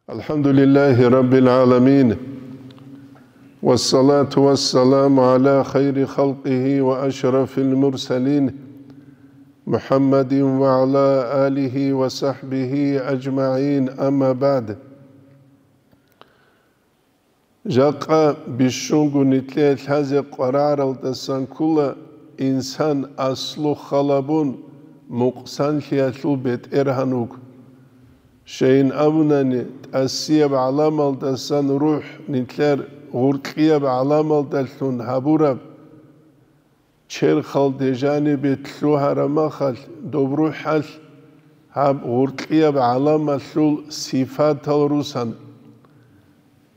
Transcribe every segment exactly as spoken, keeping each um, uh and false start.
الحمد لله رب العالمين، والصلاة والسلام على خير خلقه وأشرف المرسلين، محمد وعلى آله وصحبه أجمعين، أما بعد. Жакъа бищунго нилъее лъазе къвараралдасан ккола инсан аслу халабун мукъсанлъиялъул бетӀергьан вуго. Щайин абунани, тӀасияб гӀаламалдасан рухӀ нилъер гъуркьияб гӀаламалдалъун гьабураб черхалде жанибе лъугьараб махалъ, доб рухӀалъ гьаб гъуркьияб гӀаламалъул сифатал русан.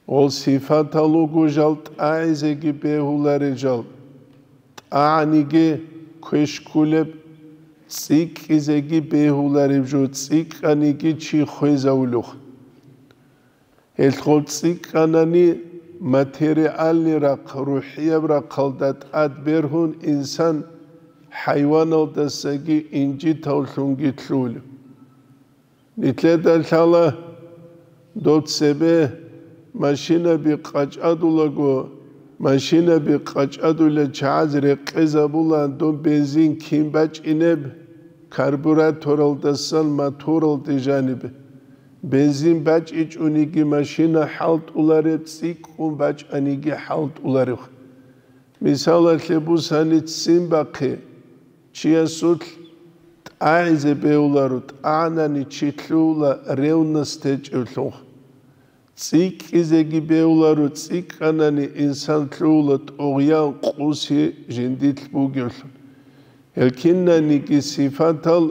Гъол сифатал руго жал тӀагӀизеги бегьуларел жал, тӀагӀаниги квеш кколеб, цӀикӀкӀизеги бегьулареб жо, цӀикӀкӀаниги чи хвезавулев. Гьелъ гъол цӀикӀкӀанани материальный рахъ, рухӀияб рахъалда тӀад бергьун инсан хӀайваналдасаги инжитавлъунги лъугьулев. Нилъеда лъала доб цебе машинаби къачӀадулаго, машинаби къачӀадулел чагӀаз рекъезабула доб бензин кин бачӀинеб, карбюраторалдасан моторалде жанибе. Бензин бачӀичӀониги машина хӀалтӀулареб, цӀикӀкӀун бачӀаниги хӀалтӀуларев. Мисалалъе бусани ццин бахъе, чиясулъ тӀагӀизе бегьуларо, тӀагӀанани чи лъугьула ревность гьечӀевлъун. ЦӀикӀкӀизеги бегьуларо, цӀикӀкӀанани инсан лъугьула тӀугъян, къуси жиндилъ бугевлъун. Гьел кинаниги сифатал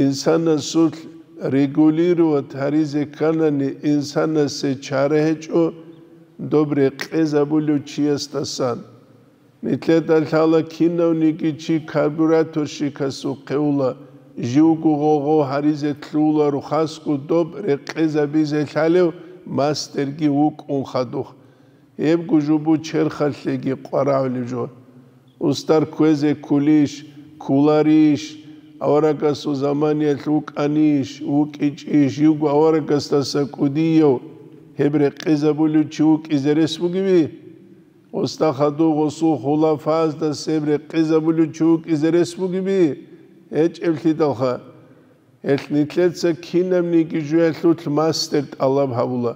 инсанасулъ регулировать гьаризе кканани, инсанасе чара гьечӀо доб рекъезабулев чиясдасан. Нилъеда лъала кинавниги чи карбюраторщикасухъе ула, живго гъо-гъо гьаризе лъугьуларо, хасго доб рекъезабизе лъалев мастерги вукӀун хадуб. Гьебго жубу черхалъеги къварагӀулеб жо. Устар кквезе ккулищ, кколарищ, аварагасул заманиялъ вукӀанищ, вукӀичӀищ, живго аварагасдаса кӀудияв гьеб рекъезабулев чи вукӀизе рес бугеби? Уста хадуб гъосул хулафаздаса гьеб рекъезабулев чи вукӀизе рес бугеби? ГьечӀеблъидалха, гьелъ нилъеца кинабниги жоялъулъ мастер тӀалаб гьабула.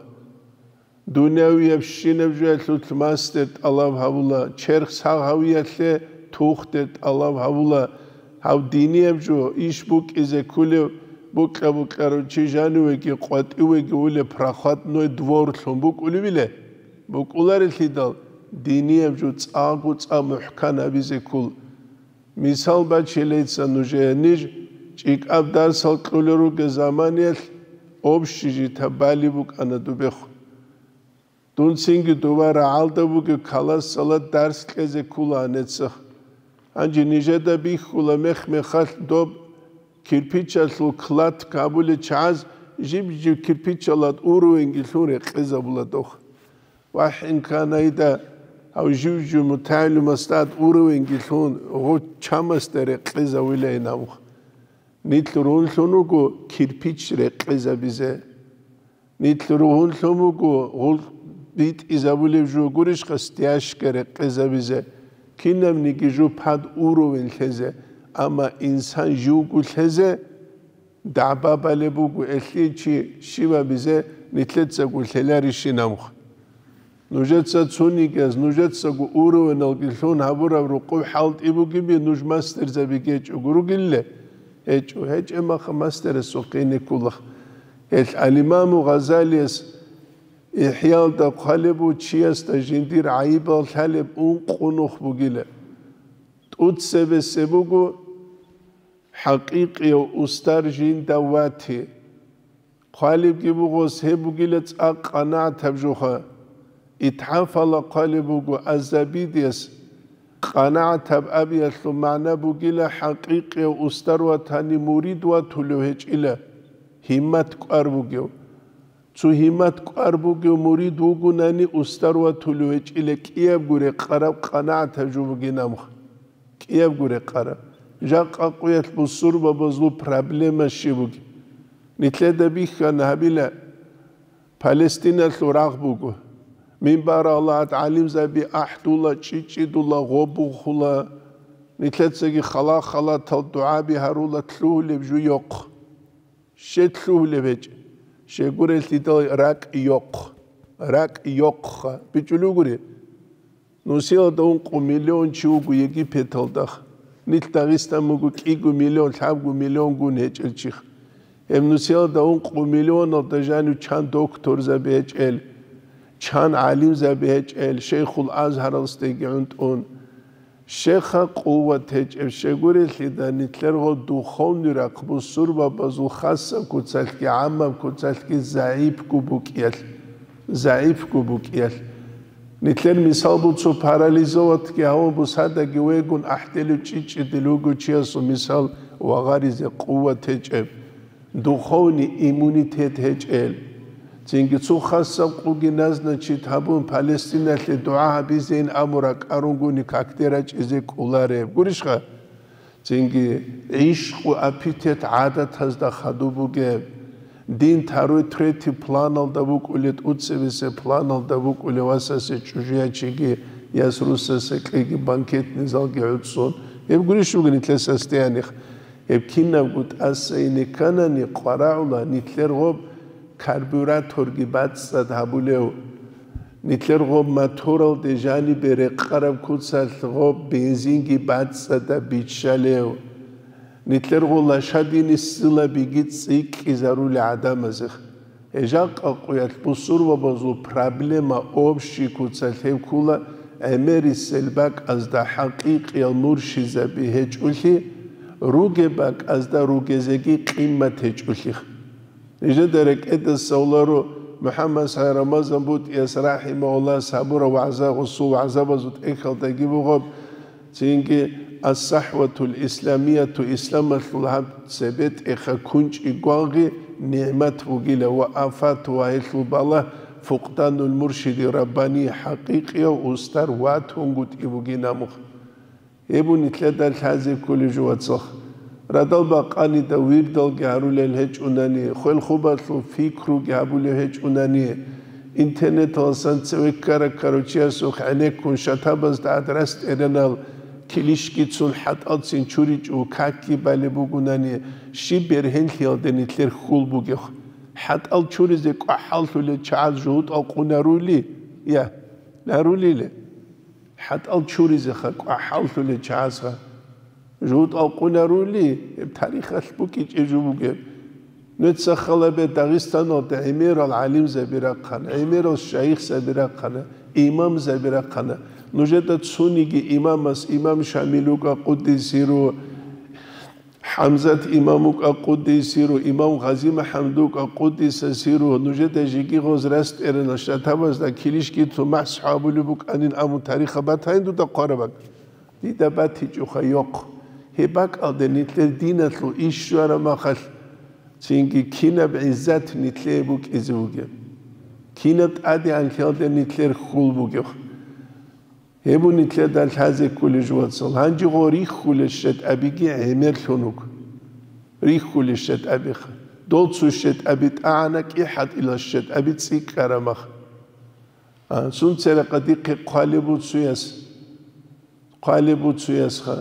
Дуниявиябщинаб жоялъулъ мастер тӀалаб гьабула, черх сагъ гьавиялъе тухтер тӀалаб гьабула, гьав динияб жо иш букӀизе кколев букьа-букьарав чи жанивеги къватӀивеги улеб проходной двор лъун букӀулевиле? БукӀуларелъидал, динияб жо цӀакъго-цӀакъ мухӀкан гьабизе ккол. Мисал бачилейца нужее, ниж чӀикӀаб дарсал кьулел ругел заманиялъ общежитияб бали букӀана дубехъ. Дун цинги дова рагӀалда бугеб классалда дарс кьезе ккола гьанеццахъ. Гьанже нижеда бихьула мех-мехалъ доб кирпичалъул кладка абулел чагӀаз жиб-жиб кирпичалда уровеньги лъун рекъезабула дох. Вахин канайда гьав жив-жив мутагӀилимасда тӀад уровеньги лъун гъо чамасда рекъезавилайин абухъ. Нилъ ругьунлъун вуго кирпич рекъезабизе. Нилъ ругьунлъун вуго гъул битӀизабулеб жо гурищха стяжка рекъезабизе. Кинабниги жо пад уровень лъезе, амма инсан живго лъезе, дагӀба балеб буго, элъи чи щиб абизе нилъецаго лъеларищин абухъ. Нужеца цонигияз, нужецаго уровеналги лъун гьабураб рукъуб хӀалтӀи бугеби, нуж мастерзаби гьечӀого ругелли? ГьечӀо, гьечӀеб маха мастерасухъ ине кколахъ. Гьелъ ал-Имаму Гъазалияс ИхӀялда хъвалеб буго чиясда жиндир гӀайибал лъалеб ункъо нух бугила. ТӀуцебесеб буго хӀакъикъияв устар жинда вати. Хъвалебги буго, гьеб бугила цӀакъ къанагӀатаб жоха. ИтхӀафала хъвалеб буго, аз-Забидияс къанагӀатаб абиялъул магӀна бугила хӀакъикъияв устар ватани мурид ватулев гьечӀила, гьиммат кӀвар бугев. Цо гьиммат кӀвар бугев мурид вугунани устар ватулев гьечӀила кӀиябго рекъараб къанагӀатаб жо бугин амха. КӀиябго рекъараб. Жакъа къуялъ бусурбабазул проблема щиб бугеб? Нилъеда бихьана гьабила, Палестиналъул рагъ буго. Минбар Аллагьад гӀалимзаби ахӀдула, чӀичӀидула, гъобухула, нилъецаги хала-халатал дугӀаби гьарула, лъугьулеб жо йохъ. Щед лъугьулеб гьечӀ. Щегурелъидал ракӀ йохъ. РакӀ йохъха. БичӀулугури. Нусиялда ункъо миллион чи вуго Египеталда. Нилъ Дагъистан буго кӀиго миллион, лъабго миллион гун гьечӀел чиха. Гьеб нусиялда ункъо миллионалда жанив чан докторзаби гьечӀел, чан гӀалимзаби гьечӀел, Шейхул Азгьаралсдеги гӀунтӀун. Щеха къуват гьечӀеб щегурелъида нилъерго духовный рахъ бусурбабазул хасаб куцалъги гӀаммаб куцалъги загӀипго букӀиялъ, загӀипго букӀиялъ. Нилъер мисал буцу парализоватги гьавун бусадаги вегун ахӀделев чӀичӀидил вуго чиясул мисал вагъаризе къуват гьечӀеб, духовный иммунитет гьечӀел. Цинги цо хасаб къуги назначит гьабун Палестиналъе дугӀа гьабизейин амура кӀарунгуни какде рачӀизе кӀолареб. Гурищха? Цинги гӀишкъу аппетит гӀадатазда хадуб бугеб. Дин второй, третий планалда букӀулеб, тӀуцебесеб планалда букӀулеб васасе чӀужуячиги яс русасе кьеги банкетный залги гӀуцӀцӀун. Гьеб гурищ буго нилъер состояниеха. Гьеб кинабго тӀаса ине кканани къварагӀула нилъер гъоб карбюраторги бацӀцӀад гьабулев. Нилъер гъоб моторалде жанибе рекъараб куцалъ гъоб бензинги бацӀцӀадаб биччалев. Нилъер гъоб лошадиный силабиги цӀикӀкӀизарули гӀадамазех. Гьеб жакъа къуялъ бусурбабазул проблема общий куцалъ гьеб ккола, гӀемерисел бакӀазда хӀакъикъиял муршизаби гьечӀолъи, ругеб бакӀазда ругезеги къимат гьечӀолъих. Нижеда рекӀедаса гьоларо МухӀаммад СагӀид Рамазан БутӀияс рахӀимагьуллагь гьабураб вагӀза, гъосул вагӀзабазул тӀехьалдаги бугеб, цинги ас-сахӀватул исламияту, исламалъул гьаб цебетӀеха кунчӀи гвангъи нигӀмат бугила ва афат ва гьелъул балагь фукъданул муршиди раббани, хӀакъикъияв устар ватунгутӀи бугин амух. Гьеб нилъеда лъазе кколеб жо, вацал. Радал бакъанида вирдалги гьарулел гьечӀунани, хвел-хубалъул пикруги гьабулев гьечӀунани, интернеталасан цеве ккара-ккарав чиясухъ гӀенеккун шатабазда гӀадрас тӀеренал килищги цун хӀатӀалцин чуричӀев какги балеб бугунани, щиб бергьенлъиялда нилъер хьул бугев? ХӀатӀал чуризе кӀвахӀаллъулел чагӀаз жугьутӀал къунарули? Я, нарулиле? ХӀатӀал чуризеха кӀвахӀаллъулел чагӀазха. ЖугьутӀал къунарули, гьеб тарихалъ букӀичӀеб жо бугеб. Нуца халабе Дагъистаналда гӀемерал гӀалимзаби рахъана, гӀемерал шайихзаби рахъана, имамзаби рахъана. Нужеда цониги имамас имам Шамил вукӀа къуддиса сирругьу, ХӀамзат имам вукӀа къуддиса сирругьу, имам ГъазимухӀаммад вукӀа къуддиса сирругьу, нужеда жеги гъоз рас тӀеренал шатабазда килищги цун махӀ сахӀабулеб букӀанин абун тарихаб батайин дуда хъвараб бакӀ. Дида батичӀоха йохъ. Гьеб бакӀалда нилъер диналъул иш щвараб махалъ, цинги кинаб гӀиззат нилъее букӀизе бугеб? Кинаб тӀадегӀанлъиялда нилъер хьул бугеб? Гьеб нилъеда лъазе кколеб жо, вацал. Гьанже гъо рихьулел щетӀабиги гӀемерлъун вуго. Рихьулел щетӀабиха. Дол цо щетӀаби тӀагӀана кӀихӀатӀилал щетӀаби цӀикӀкӀараб мах. А, сунцерахъа дихъе хъвалеб буцуяс. Хъвалеб буцуясха.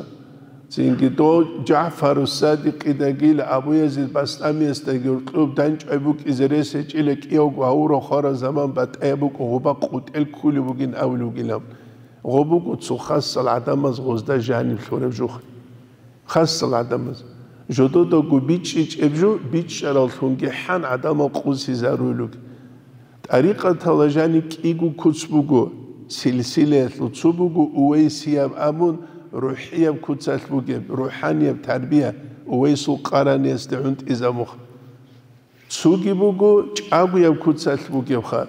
Цинги дов ЖагӀфару Садикъидагила Абу Язид Бастамиясдаги гьоркьоб дандчӀвай букӀизе рес гьечӀила кӀиявго гьавурав хвараб заман батӀаяб букӀун гъоба къутӀел ккулеб бугин абулеб бугилан. Гъоб буго цо хасал гӀадамаз гъозда жаниб лъураб жух. Хасал гӀадамаз. Жододаго бичӀчӀичӀеб жо, бичӀчӀараллъунги хӀан гӀадамал къузлъизаруйлуги. ТӀарикъатала жаниб кӀиго куц буго, силсилаялъул цо буго увайсияб абун, рухӀияб куцалъ бугеб, рухӀанияб тарбия, Увайсул Къараниясда гӀунтӀизабухъ. Цоги буго чӀагояб куцалъ бугебха.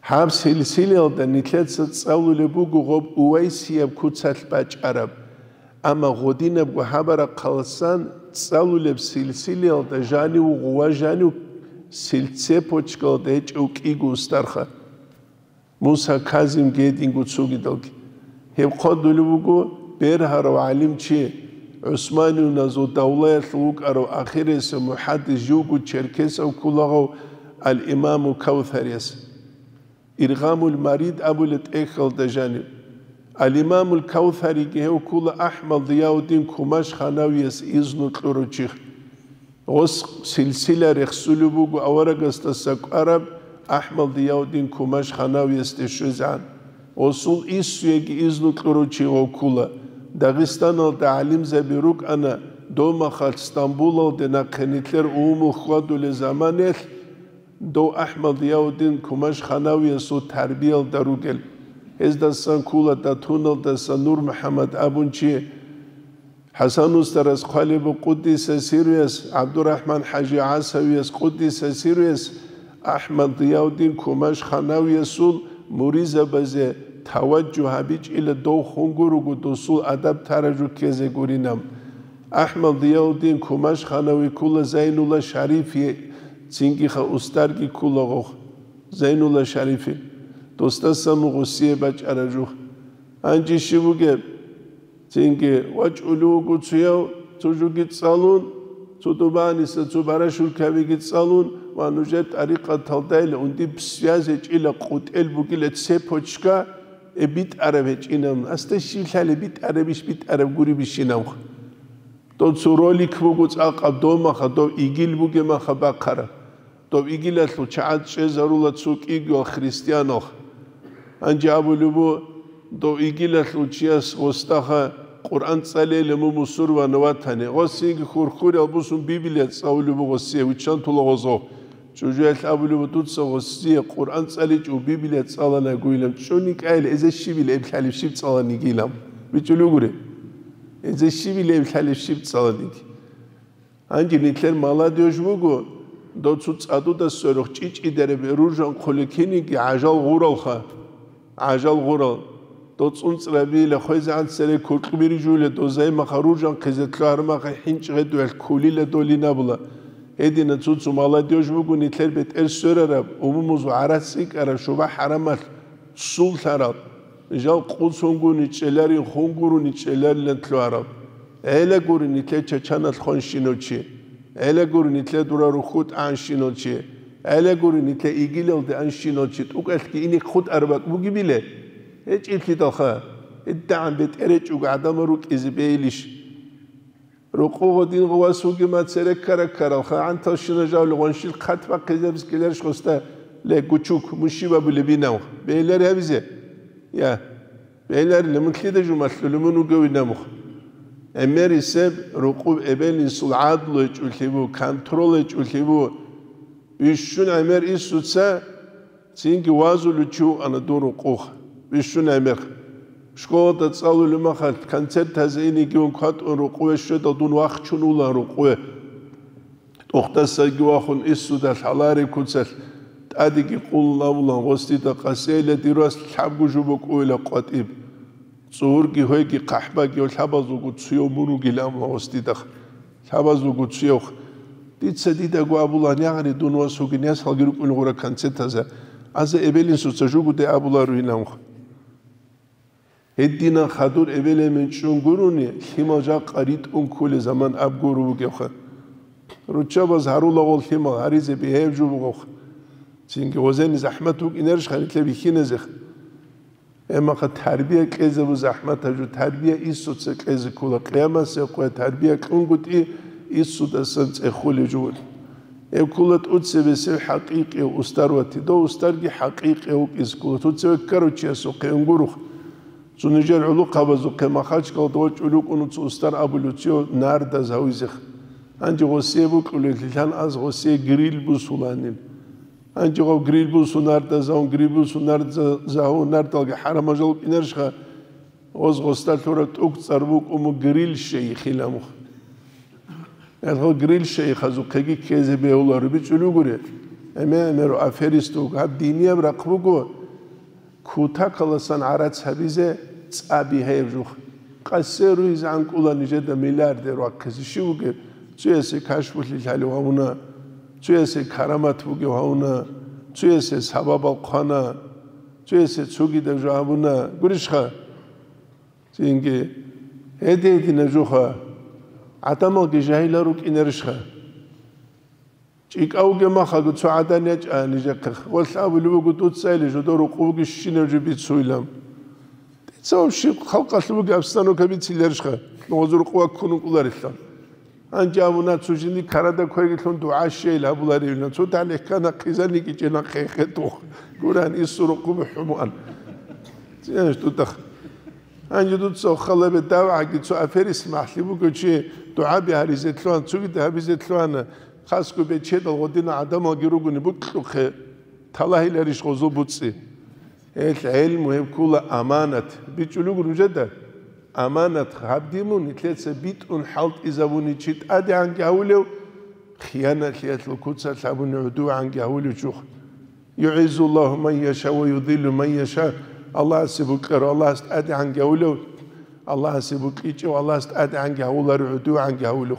Гьаб силсилаялда нилъеца цӀалулеб буго гъоб увайсияб куцалъ бачӀараб. Амма гъодинабго гьабарахъаласан цӀалулеб силсилаялда жанив гъува жанив сил-, цепочкаялда гьечӀев кӀиго устарха. Муса Казим гьединго цогидалги. Гьеб хъвалулеб буго бергьарав гӀалимчи, гӀусманиюназул давлаялъул вукӀарав ахирисев мухӀаддис, живго черкесав кколагъав Ал-Имаму Кавсарияс. Иргъамул Марид абулеб тӀехьалда жаниб. Ал-Имамул Кавсариги гьев ккола АхӀмад Зияуддин Кумаш-ханавияс изну кьурав чи. Гъос силсила рехсулеб буго аварагасдаса кӀвараб АхӀмад Зияуддин Кумаш-ханавиясде щвезегӀан. Гъосул иссуеги изну кьурав чи гъов ккола. Дагъистаналда гӀалимзаби рукӀана, дов махалъ Стамбулалде нахъе нилъер умумул хьвадулел заманаялъ, дов АхӀмад Зияуддин Кумаш-ханавиясул тарбиялда ругел. Гьездасан ккола Датуналдаса Нур МухӀаммад абун чи, ХӀасан устарас хъвалеб буго къуддиса сирруяс, ГӀабдурахӀман-хӀажи ГӀасавияс къуддиса сирруяс, АхӀмад Зияуддин Кумаш-ханавиясул муризабазе таваджугь гьабичӀила дов хун гурого досул адаб-таражу ккезе гуринаб. АхӀмад Зияуддин Кумаш-ханави ккола Зайнулла Шарифи, цинги-ха устарги ккола гъов, Зайнулла Шарифи, досдаса мугъ гъосие бачӀараб жугь. Гьанже щиб бугеб? Цинги вачӀулев вуго цояв, цо жуги цӀалун, цо Дубаниса, цо Барашулкабиги цӀалун ва нужер тӀарикъаталдайила унди связь гьечӀила, къутӀел бугила цепочка, э, битӀараб гьечӀинаб. Асда щиб лъалеб, битӀарабищ, битӀараб гуребищинаб? Дов цо ролик буго цӀакъаб, дов маха, дов игил бугеб маха бахъараб. Дов игилалъул чагӀаз чӀезарула цо кӀигоял христианал. Гьанже абулеб буго, дов игилалъул чияс гъосдаха Къуръан цӀалейилан мун мусурвана ватани. Гъосиеги хурхуриял бусун Библия цӀалулеб буго гъосие, виччан тула гъозо. Чужуялъ абулеб буго, дуца гъосие Къуръан цӀаличӀого Библия цӀаланагойилан. ЧӀуникӀайила, эзе щибила эб лъалеб щиб цӀаланигилан. БичӀулев гури. Эзе щибила эб лъалеб щиб цӀаланиги. Гьанже нилъер молодёжь буго, дов цо цӀадуда сверухъ чӀичӀидараб ружан хъуликиниги гӀажал гъуралха, гӀажал гъурал. Дов цӀунцӀрабила хвезегӀан цере куркьбири жугьула, дов займаха ружанхъизе лъугьармаха хӀинчӀ гъедуялъ кколила долин абула. Гьедина цо-цо молодёжь буго нилъер бетӀер сверараб, умумузул гӀарац цӀикӀкӀараб, шуба-хӀарамалъ суллъарал. Жал къуцунгуни чӀеларин, хунгуруни чӀеларилан лъугьарал. ГӀела гури нилъер чачаналъ хванщинав чи. ГӀела гури нилъер дура рухьу тӀагӀанщинав чи. ГӀела гури нилъер игилалде анщинав чи. ТӀукӀалъги ине хутӀараб бакӀ бугебиле? ГьечӀеблъидалха. ГьедигӀан бетӀер гьечӀого гӀадамал рукӀизе бейилищ? Рокъов гъодин гъувас вугема цереккара ккаралха, гӀанталщина жавли гъваншил хъат бахъизабиз ккеларищ гъосда, ле, гучук, мун щиб абулебинав? Бегьлари гьабизе? Я, бегьларила, мун лъида жумалъула мун вугевин абухъ? ГӀемерисеб рокъов эбел-инсул гӀадлу гьечӀолъи бу, контрол гьечӀолъи бу. Бищун гӀемер инсуца Цинги вазулев чи вукӀана дун рокъов, бищун гӀемер. Школалда цӀалулев махалъ, концертазе инеги ун кватӀун рокъове щведал дун вахчун вулан рокъове. ТӀухьдасаги вахун инсуда лъалареб куцалъ тӀадеги къулун абулан, гъос дида къасейила, дир вас лъабго жо букӀуила къватӀиб. ЦӀугьурги гьойги хъахӀбаги лъабазулго цуяв мун вугилан ва гъос дида лъабазулго цуяв. Дица дидаго абулан, ягъри дун вас вугин, ясалги рукӀун гъура концертаза. Аза эбел-инсуца жугуде абуларо инанха. Гьединан хадур эбел-эмен чӀун гурони, лъимал жакъа ритӀун кколел заман аб гуро вугевха. Руччабаз гьарулагъул лъимал гьаризе бигьаяб жо бугевха. Цинги гъозени захӀмат букӀинарищха нилъер бихьиназеха? Гьебмаха тарбия кьезабу захӀмат гьажу, тарбия инсуца кьезе ккола, къиямасеб къоя тарбия кьунгутӀи инсудасан цӀехулеб жо. Гьеб ккола тӀуцебесеб хӀакъикъияв устар вати, дов устарги хӀакъикъияв вукӀизе ккола, тӀуцеве ккарав чиясухъе унгурух. Цо нижер гӀулухъабазухъе Махачкалда вачӀун рукӀун цо устар абулев цо нардаз гьавизех. Гьанже гъосие букӀулеллъилан аз гъосие гриль бусуланин. Гьанже гъав гриль бусун нардазавун, гриль бусун нардазавун нардалги хӀарамажал вукӀинарищха? Гъоз гъосда лъураб тӀугцӀар букӀун гриль шейхилан мух. Гьелгъо гриль шейхазухъеги ккезе бегьуларо бичӀчӀулев гури. ГӀемер-гӀемеру аферист вуго. Гьаб динияб рахъ буго, кутакаласан гӀарац гьабизе цӀа бигьаяб жух. Къасе руйзе гӀанкӀула нижеда миллиардер вахъизе щив вугеб? Цуясе кашфулъи лъалев гьавуна, цуясе карамат бугев гьавуна, цуясе сабабал хъвана, цуясе цогидаб жо гьабуна. Гурищха? Цинги гьедин-гьединаб жуха, гӀадамалги жагьилал рукӀинарищха? ИкӀа вугеб махалго цо гӀадан ячӀа нижехъе. Гъолъ абулеб буго, дуца или жодор рукъу бугищинаб жо бицуйилан. Дица вообще халкъалъул бугеб обстановка бициларищха, нугъазул рукъу ваккун вукӀуларилъан. Гьанже абуна, цо жинди карада квергелъун дугӀа щейил гьабуларевилан. Цо талихӀ ккана, хъизан йикӀичӀена хъехъе тух. Гуран, ису рукъу бухӀумуан. Цинаш тутах. Гьанже дуца халабе давгӀаги цо аферис махӀлъи буго чи дугӀаби гьаризе лъугьан, цогида гьабизе лъугьана, хасго бечедал гъодина гӀадамалги ругони букьухъе, талагьиларищ гъозул буцӀи? Гьел гӀелму гьеб ккула аманат. БичӀулего нужеда, аманат гьаб димун, нилъеца битӀун хӀалтӀизабуни чи тӀадегӀанги гьавулев, хиянатлъиялъул куцалъ гьабуни гӀодугӀанги гьавулев чухъ. ЮгӀиззуллагьу ман яша ва юдиллу ман яша. Аллагьасе букьарав Аллагьас тӀадегӀанги гьавулев, Аллагьасе букьичӀев Аллагьас тӀадегӀанги гьавуларев, гӀодугӀанги гьавулев.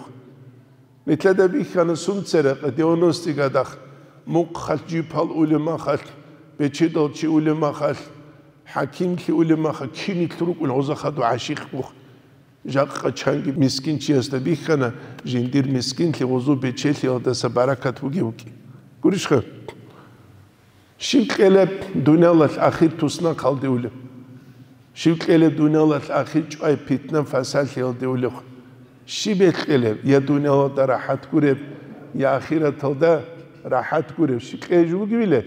Нилъеда бихьана сунцара девяностый годах, мухъалъ жипал улеб махалъ, бечедал чи улеб махалъ, хӀакимлъи улеб махалъ, кин нилъ рукӀун гъоза хадур гӀашихъ бух. Жакъа чанги мискинчиясда бихьана, жиндир мискинлъи гъозу бечелъиялдаса баракат бугев вукӀи. Гурищха? Щив кьелеб дуниялалъ ахир туснахъалде улеб? Щив кьелеб дуниялалъ ахир чӀвай питна-фасалъиялде улеб? Щиб кьелеб, я дуниялалда рахӀат гуреб, я ахираталда рахӀат гуреб? Щиб кьеж вугевиле?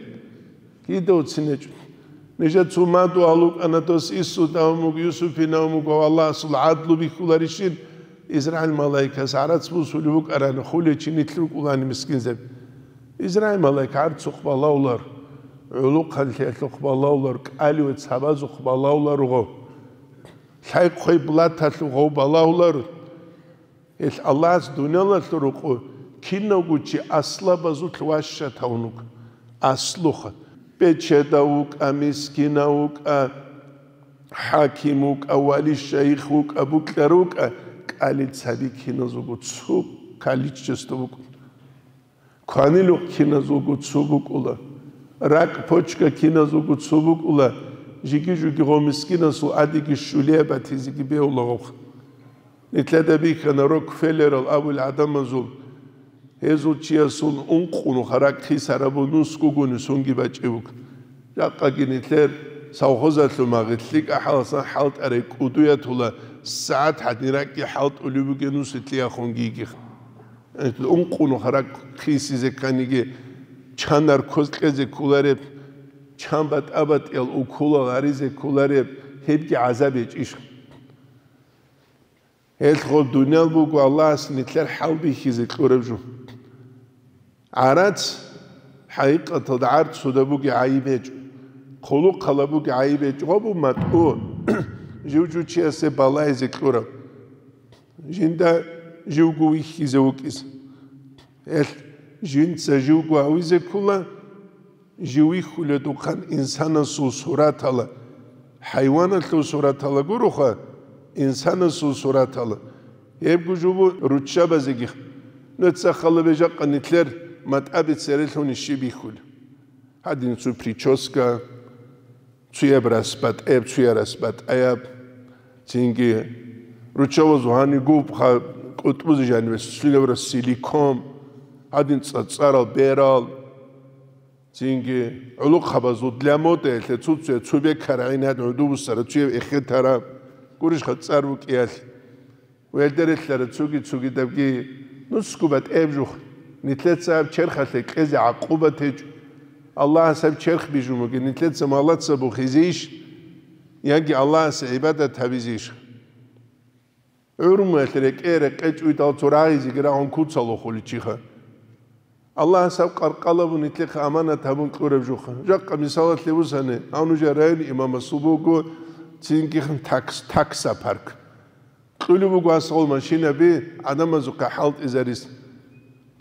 Кида уцинечӀо. Нижа цумаду алукӀана дос Исудавмуг, Юсуфинавмуг ва Аллагьасул гӀадлу бихьуларищин? Израил малаикас гӀарац бусулев вукӀарани, хулечи нилъ рукӀулани мискинзаб. Израил малаик гӀарцухъ балавлар, гӀулухъанлъиялъухъ балавлар, кӀаливе цабазухъ балавлар гъов. Лъай-хъвей блаталъув гъов балавлар. Гьелъ Аллагьас дуниялалъул рукъу кинавго чи аслабазулъ ващатавун вуго. Аслуха. Бечедав вукӀа, мискинав вукӀа, хӀаким вукӀа, вали-шайих вукӀа, букьар вукӀа, кӀали цаби киназулго цо количество букӀун. Кванилухъ киназулго цо букӀула, ракӀ-почка киназулго цо букӀула, жиги-жуги гъов мискинасул адиги щулияб батизеги бегьула гъовха. Нилъеда бихьана Рокфеллерал абул гӀадамазул, гьезул чиясул ункънуха ракӀ хисарабу нусгугуни сунги бачӀи буго. Жакъаги нилъер совхозалъул магъи лъикӀа хӀаласан хӀалтӀарай кӀудуятула, сагӀат гьадин ракӀги хӀалтӀулеб бугеб нусилъиялъунги йигиха. Ункънуха ракӀ хисизе кканиги, чан наркоз кьезе кколареб, чан батӀа-батӀиял уколал гьаризе кколареб, гьебги гӀазаб гьечӀищ. Гьелъго дуниял буго Аллагьас нилъер хӀалбихьизе кьураб жо. ГӀарац, хӀакъикъаталда гӀарцуда буги гӀайиб гьечӀо, хъулухъала буги гӀайиб гьечӀо, гъобу матӀу жив-жучиясе балайзе кьураб. Жинда живго вихьизе вукӀизе. Гьелъ жинца живго гьавизе ккола, жив вихьуледухъан инсанасул суратала, хӀайваналъул суратала гуроха, инсанасул суратала. Гьебго жубу руччабазеги. Нуца халабе жакъа нилъер матӀаби церелъуни щиб бихьулеб? Гьадин цо прическа, цуяб рас батӀаяб, цуя рас батӀаяб. Цинги руччабазул гьанигу кӀутӀбузе жаниве сулебра силикон, гьадин цӀацӀарал берал. Цинги гӀулухъабазул для моды, гьелъе цуцуя цу бекара гӀинад гӀуду бусара, цуяб эхетара, гурищха цӀар вукӀиялъ. Гьелде релълъара цуги-цугидабги нусго батӀеб жух. Нилъеца гьаб черхалъе кьезе гӀакъуба течӀо. Аллагьас гьаб черх бижун бугин, нилъеца малаца бухизейищ, яги Аллагьасе гӀибадат гьабизейищ? ГӀурмуялъ рекӀе-рекъечӀ уйдал цо рагъизеги рагъун куцалухъуличиха. Аллагьас гьаб къаркъалабун нилъехъе аманат гьабун кьураб жуха. Жакъа мисалалъе бусани, гьав нужер район имамасул буго цинги такс-, такса парк. Кьулеб буго асгъол машинаби гӀадамазухъе хӀалтӀизарис.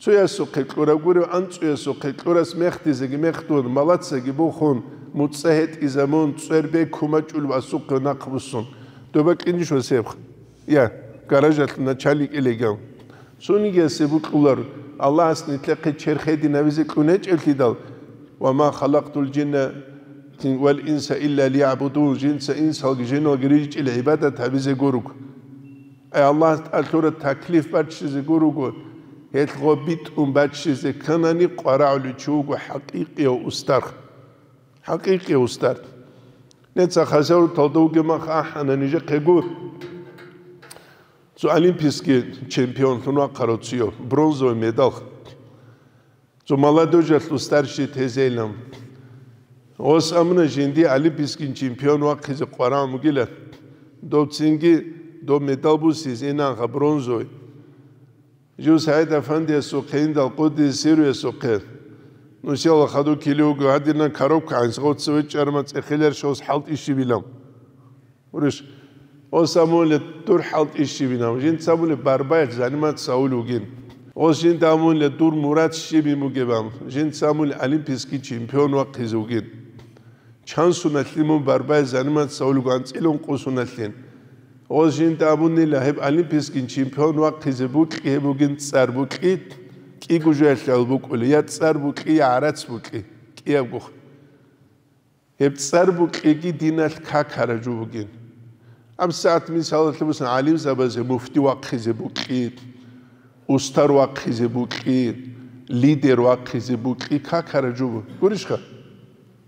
Цоясухъе кьураб гурев, анцӀоясухъе кьурас мехдизеги мехдун, малацаги бухун, муцӀа гьетӀизабун, цӀербе кумачӀулев асухъе нахъ буссун. Доба кьинищ ва себх? Я, гаражалъ начальник илегав. Цонигиясе букьулар, Аллагьас нилъехъе черх гьединавизе кьунечӀевлъидал, «Ва ма халакътул жинна вал инса илля лиябудун», жинца инсалги жиналги рижичӀел гӀибадат гьабизе гуруг. Ай Аллагьас тӀалъура таклиф баччизе гуруго. Гьелъ гъо битӀун баччизе кканани, къварагӀулев чи вуго хӀакъикъияв устар. ХӀакъикъияв устар. Неца хасавруталда вугеб мах ахӀана нижехъего цо олимпийский чемпионлъун вахъарав цояв, бронзовый медаль. Цо молодежалъул старший тезейилан. Ос амуна жинди олимпийский чемпион вахъизе къварагӀун бугила, дов цинги дов медаль бусизе инанха бронзовый. Жив СагӀид Афандиясухъе индал къуддиса сирруясухъе, нусияла хадув килиуго гьадинан коробка гӀанс гъоцци вечӀарма цӀехилер шос хӀалтӀи щибилан. Гурищ, ос амуле дур хӀалтӀи щибинав, жинца амуле барбаялъ заниматься авулев вугин. Ос жинда амуле дур мурад щибин бугебан, жинца амуле олимпийский чемпион вахъизе вугин. Чан суналъин мун барбай заниматься авулев вуго, анцӀила ункъо суналъин. Гъоз жинда абунила, гьеб олимпийский чемпион вахъизе букьи гьеб бугин цӀар букьи, кӀиго жоялъе гьал букӀули, я цӀар букьи, я гӀарац букьи, кӀиябго. Гьеб цӀар букьиги диналъ какараб жо бугин. АбсагӀат мисалалъе бусун гӀалимзабазе муфти вахъизе букьи, устар вахъизе букьи, лидер вахъизе букьи, какараб жо бугин. Гурищха?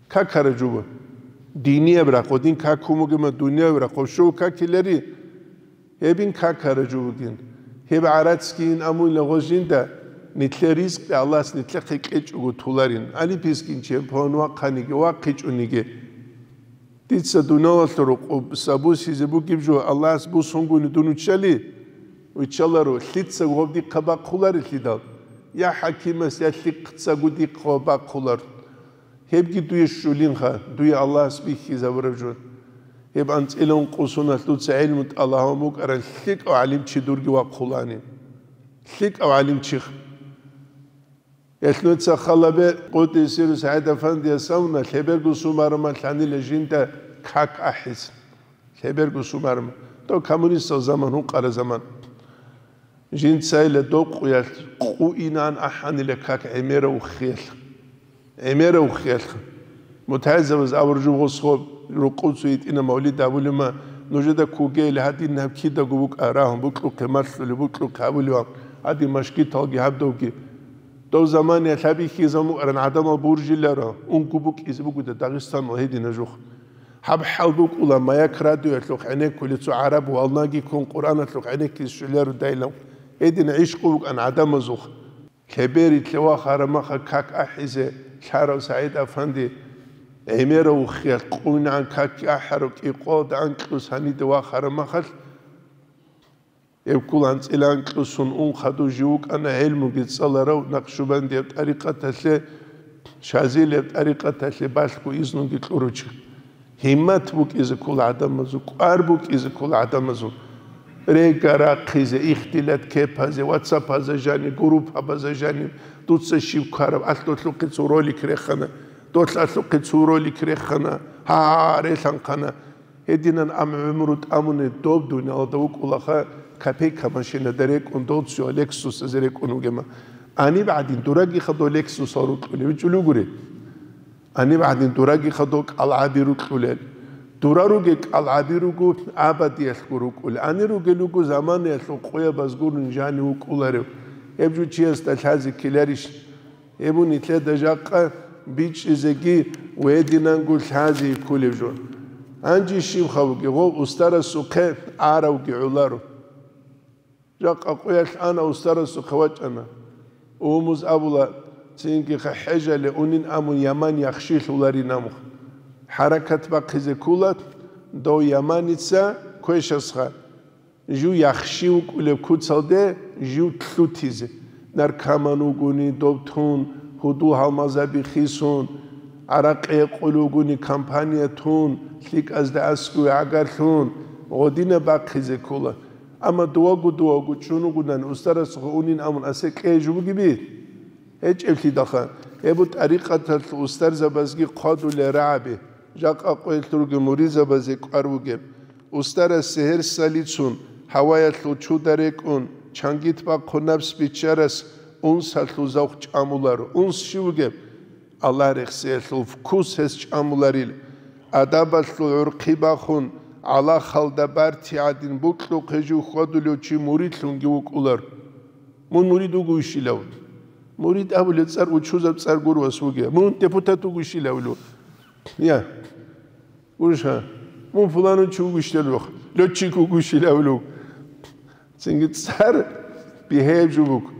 Какараб жо бугин. Динияб рахъу, дин какун бугема, дунияб рахъу, щов какилари. Гьебин какараб жо бугин. Гьеб гӀарацги ин амуйла гъоз жинда, нилъер ризкъи Аллагьас нилъехъе кьечӀого туларин. Олимпийский чемпион вахъаниги, вахъичӀониги. Дица дуниялалъул рукъу сабусизе бугеб жо Аллагьас бусунгуни дун виччали? Виччаларо, лъица гъоб дихъа бахъуларелъидал, я хӀакимас, я лъихъцаго дихъа гъоб бахъулар. Гьебги дуе щулинха, дуе Аллагьас бихьизабураб жо. Гьеб анцӀила ункъо суналъ дуца гӀилму тӀалаб гьабун букӀаран лъикӀав гӀалимчи дурги вахъулани. ЛъикӀав гӀалимчи. Гьелъ нуца халабе къуддиса сирругьу СагӀид Афандияс абуна, лъеберго сумарумал лъанила жинда как ахӀизе. Лъеберго сумарумал. Дов коммунистал заман, гьункъара заман. Жинцайила докъуялъ къуинан ахӀанила как гӀемерав уххиялъ. ГӀемерав уххиялъ. МутагӀилзабаз абур жугъусго рукъуцу йитӀина мавлид абулема, нужеда кугейли гьадин гьаб кидаго букӀа рагьун, букьухъе малъулеб, букьухъе абулеван, гьадин машгиталги гьаб довги. Дов заманиялъ гьаб ихьизабун букӀаран гӀадамал буржиларо, унго букӀизе бугода Дагъистаналда гьедина жух. Гьаб хӀал букӀула, маяк радиоялъухъ гӀенеккулел цо гӀараб валнаги ккун Къуръаналъухъ гӀенеккизе щвеларо дайлан. Гьедин гӀишкъу букӀан гӀадамазухъ. Лъеберилъе вахараб маха как ахӀизе лъарав СагӀид Афанди гӀемерав уххиялъ къуйнагӀан как ахӀарав кӀикъоялда анкьус гьаниде вахараб махалъ, гьеб ккола анцӀила анкьусун ун хадув жив вукӀана гӀелмуги цӀаларав, накъшубандияб тӀарикъаталъе, шазилияб тӀарикъаталъе балъго изнуги кьурав чи. Гьиммат букӀизе ккола гӀадамазул, кӀвар букӀизе ккола гӀадамазул. Рега рахъизе, ихтилат кепазе, ватсапазда жаниб, группабазда жаниб, дуца щиб ккараб, алъулъухъе цо ролик рехана, долъалъухъе цо ролик рехана, гьа, релъанхъана. Гьединан ам гӀумру тӀамуни доб дуниялда вукӀулаха, копейка машинада рекӀун, дов цо Лексусазе рекӀун вугема. Гьаниб гӀадин дурагиха дов Лексусал рукьулев вичӀулев гури. Гьаниб гӀадин дурагиха дов кӀалгӀаби рукьулел. Дура ругел кӀалгӀаби руго абадиялъго рукӀулел. Гьанир ругел руго заманаялъул къоябаз гурун жанив вукӀуларев. Гьеб жо чиясда лъазе ккеларищ? Гьеб нилъеда жакъа бичӀчӀизеги гьединанго лъазе кколеб жо. Гьанже щибха бугеб, гъов устарасухъе аравги гӀоларо. Жакъа къоялъ ана, устарасухъе вачӀана. Умуз абула, цинги хӀежале унин амун яман яхшилъуларин амух. ХӀаракат бахъизе ккола, дов яманица квешасха. Жив яхши вукӀулеб куцалде жив лъутизе. Наркоман вугони дов тун, гьудул-гьалмагъзаби хисун, гӀаракъи гьекъулев вугони компания тун, лъикӀазда аскӀове гӀагарлъун, гъодинаб бахъизе ккола. Амма дувагу-дувагу чӀун вугони, устарасухъе унин амун асе кьей жо бугеби? ГьечӀеблъидалха, гьеб тӀарикъаталъул устарзабазги хъвадулел рагӀаби, жакъа къоялъ ругел муридзабазе кӀвар бугеб. Устарас сегьерсалицун, гьаваялъул чуда рекӀун, чангит бахъун напс биччарас унсалъул завх чӀамуларо. Унс щив вугеб? Аллагь рехсиялъул вкус гьес чӀамуларил, адабалъул гӀурхъи бахун, гӀалахалда барти гӀадин букьухъе жив хьвадулев чи муридлъунги вукӀулар. Мун мурид вугевищилав? Мурид абулеб цӀар учузаб цӀар гуро, вас вугев. Мун депутат вугевищилавилу? Я. Гурищха? Мун фуланун чи вугевищилавилу? Лётчик вугевищилавилу? Цинги цӀар бигьаяб жо буго.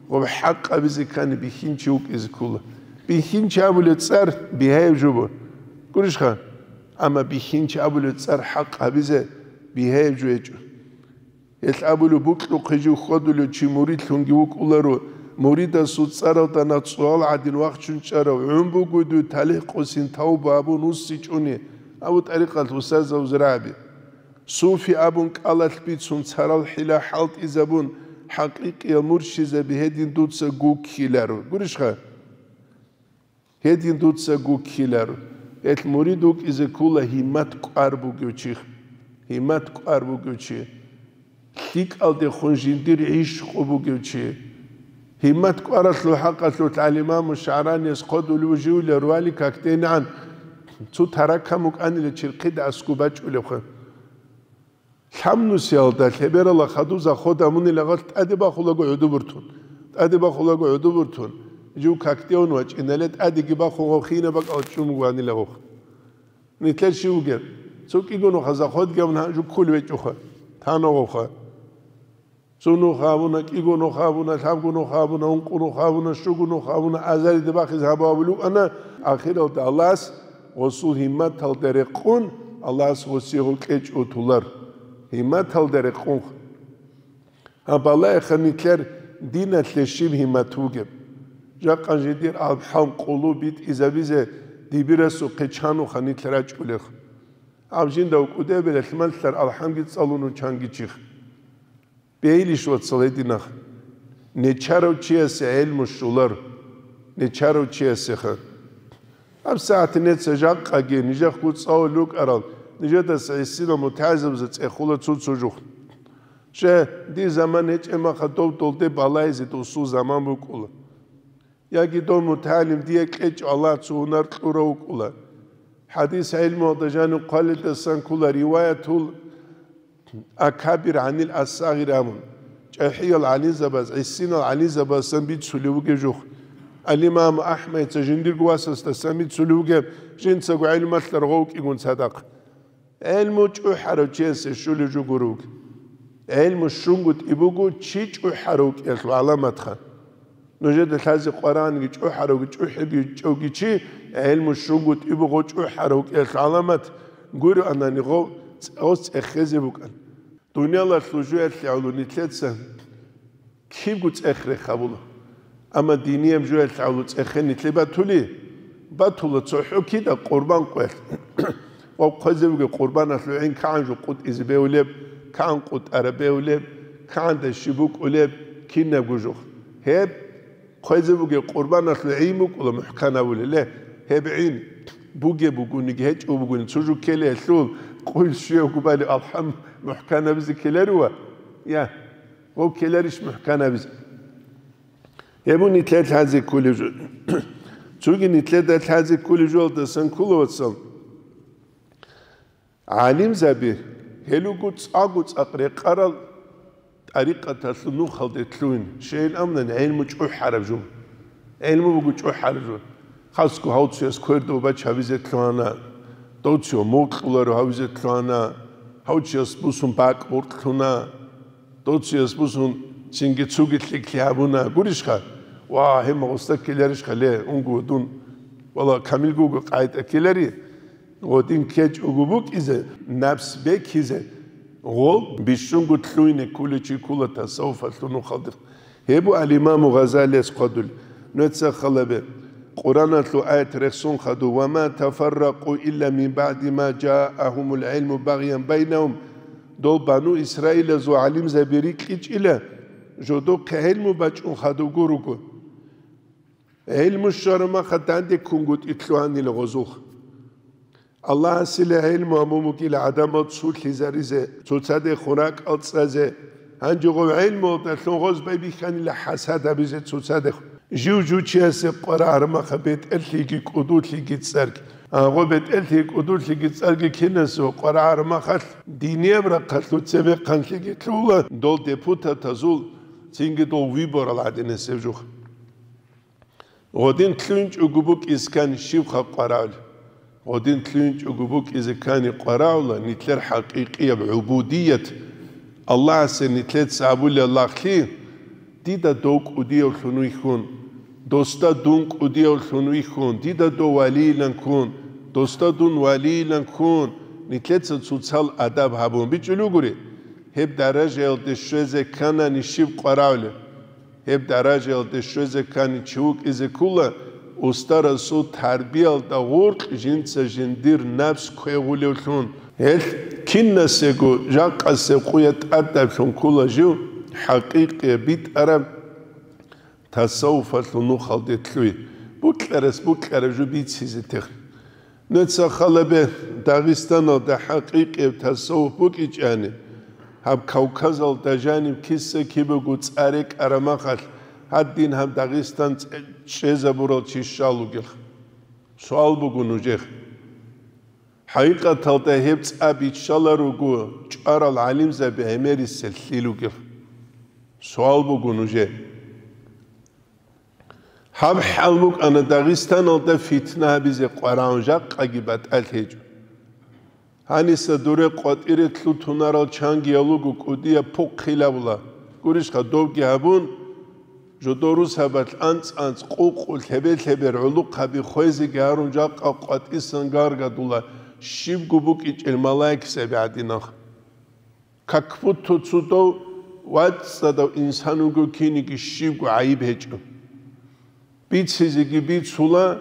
Гъоб хӀакъ абизе ккани бихьинчи вукӀизе ккола. Бихьинчи абулеб цӀар бигьаяб жо буго. Гурищха? Амма бихьинчи абулеб цӀар хӀакъ гьабизе бигьаяб жо гьечӀо. Гьелъ абулеб, букьухъе жив хьвадулев чи муридлъунги вукӀуларо, муридасул цӀаралда нахъ цӀугьал гӀадин вахчун чӀарав, гӀун буго дуе талихӀ къосин тавба абун вуссичӀони, абу тӀарикъалъ устарзабаз рагӀаби. Суфи абун кӀалалъ бицун, царал хӀила хӀалтӀизабун, хӀакъикъиял муршизаби гьедин дуца гуккиларо. Гурищха? Гьедин дуца гуккиларо. Гьелъ мурид вукӀизе ккола гьиммат кӀвар бугев чи. Гьиммат кӀвар бугев чи. ЛъикӀалдехун жиндир гӀишкъу бугев чи. Гьиммат кӀваралъул хӀакъалъулъ гӀалимаму ШагӀранияс хъодулев живлер вали какдейнагӀан цо таракам вукӀанила черхъида аскӀоб бачӀулевха. Лъабнусиялда лъеберала хадуб заход гьабунила гъалъ тӀаде бахулаго гӀодобуртун. ТӀаде бахулаго гӀодобуртун. Жив какдеун вачӀинале тӀадеги бахун гъов хина бакӀал чӀумгу гьанила гъов. Нилъер щив вугеб? Цо кӀиго нуха заходги гьабун гьанжу ккул вечӀуха. Тана гъовха. Цо нуха гьабуна, кӀиго нуха гьабуна, лъабго нуха гьабуна, ункъо нуха гьабуна, щуго нуха гьабуна, азариде бахиз гьабугьабулев ана, ахиралда Аллагьас гъосул гьимматалда рекъун, Аллагьас гъосие гъов кьечӀо тулар. Гьимматалда рекъунха. Гьаб балагьеха нилъер диналъе щиб гьиммат вугеб. Жакъа жидер алхӀам къулу битӀизабизе дибирасухъе чануха нилъ рачӀулех. Гьаб жинда вукӀудеб релълъмалъар алхӀамги цӀалун вучанги чих. Бейилищ, вацал, гьединах? Нечарав чиясе гӀелму щолар. Нечарав чиясеха. ГьабсагӀат неца жакъаги, нижехъго цӀалулел рукӀарал, нижедаса гӀисинал мутагӀилзабазда цӀехола цо-цо жух. Щай, дир заман гьечӀеб маха дов долде балайзе досул заман букӀула. Яги дов мутагӀилим дие кьечӀо Аллагь цо гьунар кьурав вукӀула. ХӀадис гӀелмуялда жанив хъвалидасан ккола риваятул акабир гӀанил ассагъир абун, чӀахӀиял гӀалимзабаз, гӀисинал гӀалимзабазасан бицулев вугев жух. Ал-Имам АхӀмадица жиндирго васасдасан бицулев вугев, жинцаго гӀелмалъ рагъов вукӀигун цадахъ. ГӀелму чӀухӀарав чиясе щулев жо гуро вугев. ГӀелму щунгутӀи буго чи чӀухӀарав вукӀиялъул гӀаламатха. Нужеда лъазе Къуръанги чӀухӀаравги чӀухӀиби чӀевги чи, гӀелму щунгутӀи буго чӀухӀарав вукӀиялъул гӀаламат, гуроанани гъов цӀ-, гъос цӀехезе букӀан. Дуниялалъул жуялъе гӀоло нилъеца кибго цӀех рехабула. Амма динияб жуялъе гӀоло цӀехе нилъе батули, батула цохӀо кида къурбан къоялъ. Ва хъвезевги къурбаналъул гӀин кагӀан жо къутӀизе бевлеб, кагӀан къутӀараб бевлеб, кагӀанда щиб букӀулеб, кинабго жух. Гьеб хъвезе бугеб къурбаналъул гӀин букӀула мухӀканабулел, гьеб гӀин бугеб бугониги гьечӀо бугони, цо жо ккеле гьелъул, къуйл щуявго балев алхӀам мухӀканабизе ккеларива? Я, гъов ккеларищ мухӀканабизе? Гьеб нилъер лъазе кколеб жо. Цоги нилъеда лъазе кколеб жоялдасан ккола, вацал. ГӀалимзаби, гьел руго цӀакъго цӀакъ рекъарал тӀарикъаталъул нухалде лъугьин, щайин абунани гӀелму чӀухӀараб жо. ГӀелму буго чӀухӀараб жо. Хасго гьав цояс квердав бач гьавизе лъугьана, дов цо мукьуларо гьавизе лъугьана, гьав чияс бусун бакӀ боркьлъуна. Дов цояс бусун цинги цоги лъикӀлъи гьабуна гурищха? Ва, гьеб гъоста ккеларищха ле, унго дун, вала, камилго вуго къайда ккелари. Гъодин ккечӀого букӀизе, напс бекизе, гъол бищунго лъугьине кколев чи ккола тасаввуфалъул нухалде. Гьеб буго ал-Имаму Гъазалияс хъвадулеб. Нужеца халабе, Къуръаналъул аят рехсон хадув: «Ва ма тафарракъу илла мин баъди ма жаагьумул гӀилму багъян байнагьум». Дол бану Исраилазул гӀалимзаби рикьичӀила, жодохъе гӀилму бачӀун хадубго руго. ГӀилму щвараб маха данде ккунгутӀи лъугьанила гъозулха. Аллагьасила гӀилму гьабун бугила гӀадамал цулъизаризе, цоцадехун ракӀал цӀазе. Гьанже гъов гӀилмуялдалъун гъоз байбихьанила хӀасад гьабизе цоцадехун. Жив жучиясе къварагӀараб маха бетӀерлъиги кӀудулъиги цӀарги. Гьагъо бетӀерлъиги кӀудулъиги цӀарги киназего къварагӀараб махалъ, динияб рахъалъул цебехъанлъиги лъугьула дол депутатазул, Цинги дол выборал гӀадинасеб жух. Гъодин лъугьинчӀого букӀизе ккани щибха къварагӀула? Гъодин лъугьинчӀого букӀизе ккани къварагӀула нилъер хӀакъикъияб гӀубудият, Аллагьасе нилъеца абулеб лагълъи: «Дида дов кӀудиявлъун вихьун, досда дун кӀудиявлъун вихьун, дида дов валийилан ккун, досда дун валийилан ккун», нилъеца цоцал адаб гьабун бичӀчӀулев гури. Гьеб даражаялде щвезе кканани щиб къварагӀулеб? Гьеб даражаялде щвезе ккани чи вукӀизе ккула, устарасул тарбиялда гъоркь жинца жиндир напс квегъулевлъун. Гьелъ кинасего жакъасеб къуя тӀадаблъун ккула жив хӀакъикъияб битӀараб тасаввуфалъул нухалде лъугьи, букьарас букьараб жо бицизе тех. Нуца халабе, Дагъистаналда хӀакъикъияб тасаввуф букӀичӀани, гьаб Кавказалда жаниб киса кибего цӀа рекӀараб махалъ, гьадин гьаб Дагъистан чӀе-, чӀезабурал чи щал вугел? Суал буго нужех. ХӀакъикъаталда гьеб цӀа биччаларуго чӀварал гӀалимзаби гӀемерисел лъил вугел? Суал буго нужее. Гьаб хӀал букӀана Дагъистаналда фитна гьабизе къварагӀун, жакъаги батӀалъи гьечӀо. Гьаниса дуре къватӀире лъутунарал чангиял руго кӀудияб пухъ хилабула. Гурищха, довги гьабун, жодорусабалъ анцӀ-анцӀ, къукъу, лъебе-лъебер гӀулухъаби хвезеги гьарун, жакъа къватӀисан гаргадула, щибго букӀичӀел малаикзаби гӀадинах. Как будто цо дов вацӀцӀадав инсан вуго киниги щибго гӀайиб гьечӀо. Бицизеги бицула,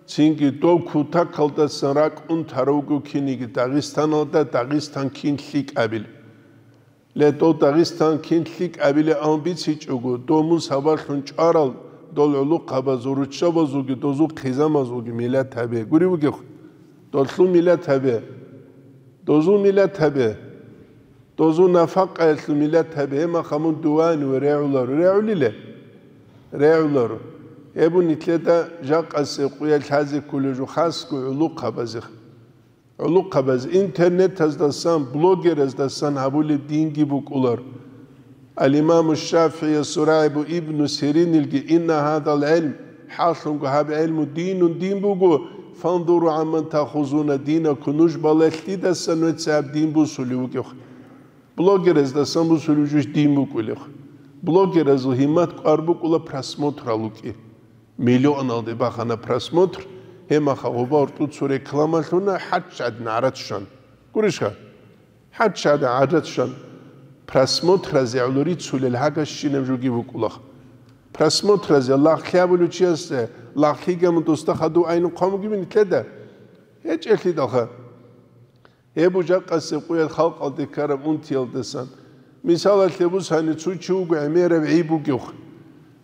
цинги дов кутакалдасан ракӀ унтарав вуго киниги Дагъистаналда, Дагъистан кин лъикӀабилеб. Ле, дов Дагъистан кин лъикӀабилеб абун бицичӀого, дов мун сабаблъун чӀварал, дол гӀулухъабазул, руччабазулги, дозул хъизамазулги миллат гьабе. Гурев вугев? Долъул миллат гьабе. Дозул миллат гьабе. Дозул нафакъаялъул миллат гьабе. Гьеб махалъ мун дувани ва регӀуларо. РегӀулиле? РегӀуларо. Гьеб нилъеда жакъасеб къуя лъазе кколеб жо хасго гӀулухъабазе. ГӀулухъабаз интернетаздасан, блогераздасан гьабулеб динги букӀулар. Ал-Имаму ШафигӀиясул рагӀи буго Ибну Сиринилги: «Инна гьадал гӀилм», хӀакълъунго гьаб гӀилму динун, дин буго, «фанзуру гӀамман таахузуна динакум», нуж балагье, лъидасан нуца гьаб дин бусулев вугев. Блогераздасан бусулев жуж дин букӀулев. Блогеразул гьиммат кӀвар букӀула просмотрал вукӀи. Миллионалде бахана просмотр, гьеб махалъ гъоба гьоркьоб цо реклама лъуна, хӀаччадин гӀарац щван. Гурищха? ХӀаччадин гӀарац щван. Просмотразе гӀоло рицулел гьагасщинаб жоги букӀулаха. Просмотразе лагълъи гьабулев чиясда лагълъи гьабун досда хадув айнухъ гьабугебин нилъеда? ГьечӀелъидалха. Гьеб жакъасеб къуялъ халкъалде ккараб унтиялдасан. Мисалалъе бусани, цо чи вуго гӀемераб гӀи бугев.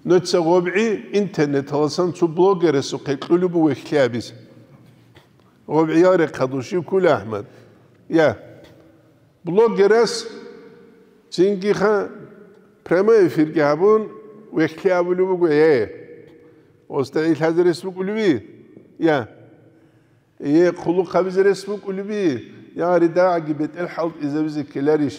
Нуца гъоб гӀи интернеталасан цо блогерасухъе кьулеб буго вехьлъи гьабизе. Гъоб гӀиял рехъадул щив ккула, АхӀмад? Я. Блогерас цинги ха прямой эфирги гьабун, вехьлъи абулеб буго, э, осда гӀи лъазе рес букӀулеби? Я. Э, хъулухъ гьабизе рес букӀулеби? Я, ридагӀаги бетӀер хӀалтӀизабизе ккеларищ?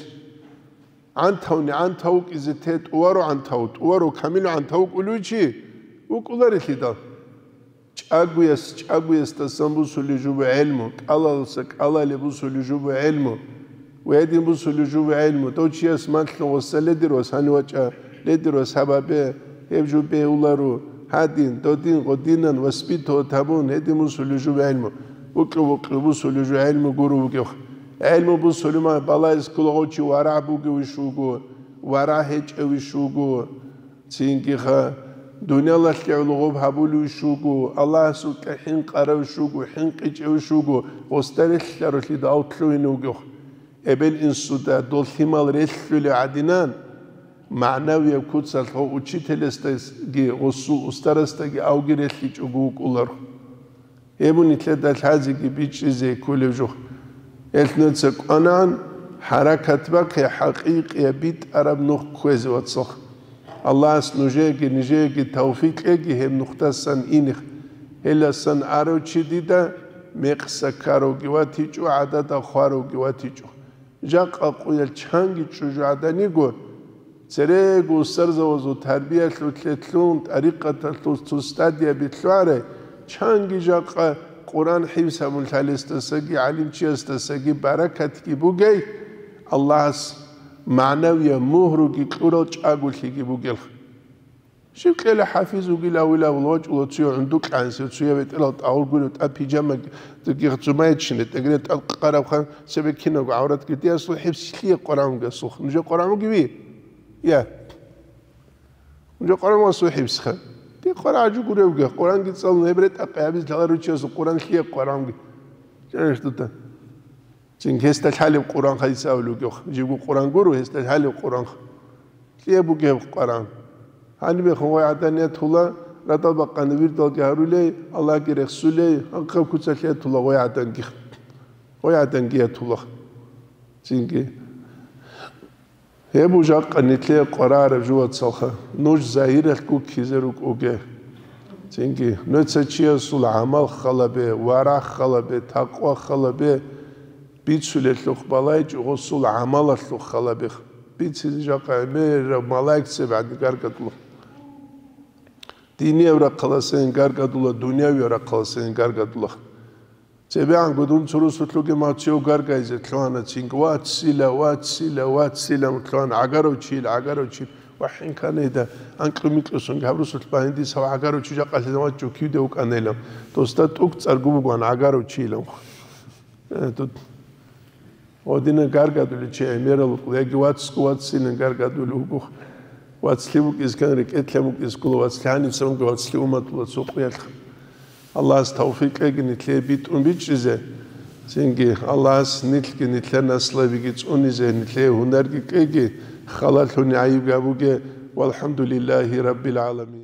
ГӀантавни гӀантав вукӀизе те, тӀуварав гӀантав, тӀуварав камил гӀантав вукӀулев чи? ВукӀуларелъидал. ЧӀагояс чӀагоясдасан бусулеб жо буго гӀелму, кӀалаласа кӀалалеб бусулеб жо буго гӀелму. Ва гьедин бусулеб жо буго гӀелму. Дов чияс малъун гъоса ледир вас гьанив вачӀа, ледир вас гьаб гьабе, гьеб жо бегьуларо, гьадин, додин, гъодинан воспитывать гьабун, гьедин бусулеб жо буго гӀелму. Букьу-букьу бусулеб жо гӀелму гуро вугев. ГӀелму бусулеб ман балагьизе ккола гъов чи варагӀ бугевищ вуго, варагӀ гьечӀевищ вуго. Цинги ха, дуниялалъе гӀоло гъоб гьабулевищ вуго, Аллагьасукьа хӀинкъаравищ вуго, хӀинкъичӀевищ вуго, гъосда релълъаралъидал лъугьине вугев. Эбел-инсуда дол лъимал релълъулев гӀадинан, магӀнавияб куцалъ гъов учителасдаги гъосул устарасдаги авги релълъичӀого вукӀуларо. Гьеб нилъеда лъазеги бичӀчӀизе кколеб жо. Гьелъ нуца кӀванагӀан, хӀаракат бахъе хӀакъикъияб битӀараб нух кквезе, вацал. Аллагьас нужееги нижееги тавфикъ кьеги гьеб нухдасан иних. Гьеласан арав чи дида мекъса ккаравги ватичӀо, гӀадада хваравги ватичӀо. Жакъа къуялъ чанги чӀужугӀаданиго, Церего устарзавазул тарбиялъулъе лъун, тӀарикъаталъул цо стадия бихьуларе, чанги жакъа Къуръан хӀифз гьабун лъалесдасаги, гӀалимчиясдасаги баракатги бугей, Аллагьас магӀнавияб мугьруги кьурал чӀаголъиги бугел. Щиб кьела хӀафиз вугилавилавул вачӀула цуя гӀундукьанси, цуя бетӀерал тӀагъур гурев тӀад пижамаги цумайчине, тӀегре тӀад къараб хан цебе кинабго гӀавратги диасул хӀифз лъие Къуръан вугесулха. Нужер Къуръан вугеви? Я. Нужер Къуръан ва сухӀибсха. Ди Къуръан гӀажу гуревги, Къуръанги цӀалун, гьеб ретӀа-, къиямиз лъала руччасул Къуръан лъие Къуръанги. Жаниш дута. Цин гьесда лъалеб Къуръан хайса авлугех. Жибго Къуръан гуро, гьесда лъалеб Къуръан. Лъие бугеб Къуръан. Гьанибехун гъой гӀадан ятула, радал бакъани вирдалги гьарулей, Аллагьги рехсулей, гьанкъаб куцалъ ятула гъой гӀаданги. Гъой гӀаданги ятула. Цинги. Гьеб жакъа нилъее къварараб жо, вацалха, нуж загьиралъ гуккизе рукӀуге. Цинги, нуца чиясул гӀамал халабе, варагь халабе, такъва халабе, бицулелъухъ балайчӀо гъосул гӀамалалъухъ халабе. Бицизе жакъа гӀемераб малаикзаб гӀадин гаргадулаха. Динияб рахъаласейин гаргадула, дунявияб рахъаласейин гаргадулаха. ЦебегӀанго дун цо русулъуги мацев гаргайзе лъугьана цинги, вацила, вацила, вацила лъугьана, гӀагарав чил, гӀагарав чил, вахӀин канейда, анкьу-микьусунги гьаб русулъ багьиндис гьав гӀагарав чи жакъалъизан вачӀо кивде вукӀанайилан, досда тӀук цӀаргу бугоан гӀагарав чилан. Э, тут гьодина гаргадулев чи гӀемерал вукӀула, яги вацасго ваццинан гаргадулев вуго. Вацлъи вукӀискан рекӀелъан вукӀискула, вацлъи гьаницаунги вацлъи уматула цо къуялъ. Аллагьас тавфикъ кьеги нилъее битӀун бичӀчӀизе, цинги Аллагьас нилъги нилъер наслабиги цӀунизе, нилъее гьунарги кьеги, халалъуни гӀайиб гьабуге. ВалхӀамдулиллагьи раббил гӀаламин.